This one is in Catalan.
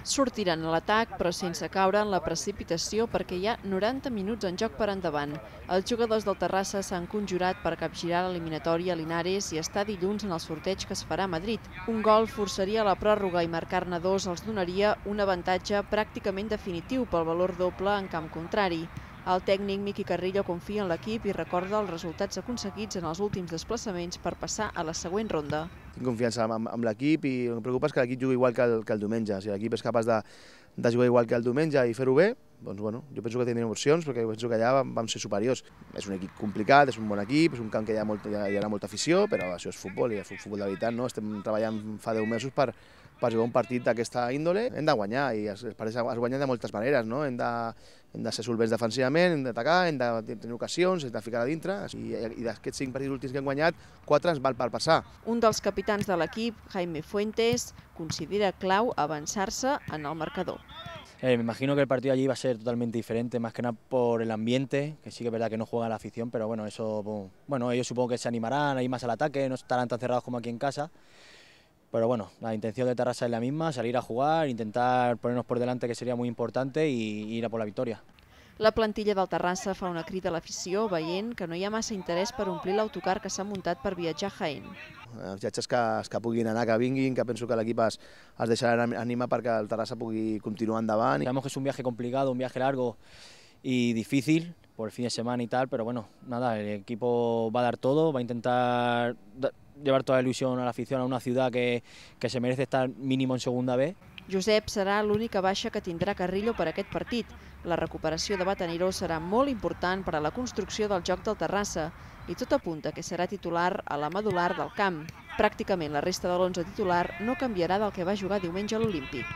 Sortiran a l'atac, però sense caure en la precipitació perquè hi ha 90 minuts en joc per endavant. Els jugadors del Terrassa s'han conjurat per capgirar l'eliminatòria a Linares i estar dilluns en el sorteig que es farà a Madrid. Un gol forçaria la pròrroga i marcar-ne dos els donaria un avantatge pràcticament definitiu pel valor doble en camp contrari. El tècnic Miqui Carrillo confia en l'equip i recorda els resultats aconseguits en els últims desplaçaments per passar a la següent ronda. Tinc confiança amb l'equip i el que em preocupa és que l'equip jugui igual que el diumenge. Si l'equip és capaç de jugar igual que el diumenge i fer-ho bé, doncs bueno, jo penso que tindrem opcions perquè penso que allà vam ser superiors. És un equip complicat, és un bon equip, és un camp que hi ha molta afició, però això és futbol i és futbol de veritat, no? Estem treballant fa 10 mesos per jugar un partit d'aquesta índole. Hem de guanyar i es guanya de moltes maneres, no? Hem de ser solvents defensivament, hem d'atacar, hem de tenir ocasions, hem de ficar a dintre i d'aquests 5 partits últims que hem guanyat, 4 ens val per passar. Un dels capitans de l'equip, Jaime Fuentes, considera clau avançar-se en el marcador. Me imagino que el partido allí va a ser totalmente diferente, más que nada por el ambiente, que sí que es verdad que no juega la afición, pero bueno, eso, bueno, ellos supongo que se animarán a ir más al ataque, no estarán tan cerrados como aquí en casa. Pero bueno, la intención de Terrassa es la misma, salir a jugar, intentar ponernos por delante, que sería muy importante, y ir a por la victoria. La plantilla del Terrassa fa una crida a l'afició veient que no hi ha massa interès per omplir l'autocar que s'ha muntat per viatjar a Jaén. Els viatges que puguin anar, que vinguin, que penso que l'equip es deixarà animar perquè el Terrassa pugui continuar endavant. Sabemos que es un viaje complicado, un viaje largo y difícil por el fin de semana y tal, pero bueno, nada, el equipo va a dar todo, va a intentar llevar toda la ilusión a la afición a una ciudad que se merece estar mínimo en segunda B. Josep serà l'única baixa que tindrà Carrillo per aquest partit. La recuperació de Batanero serà molt important per a la construcció del joc del Terrassa i tot apunta que serà titular a la medular del camp. Pràcticament la resta de l'11 titular no canviarà del que va jugar diumenge a l'Olímpic.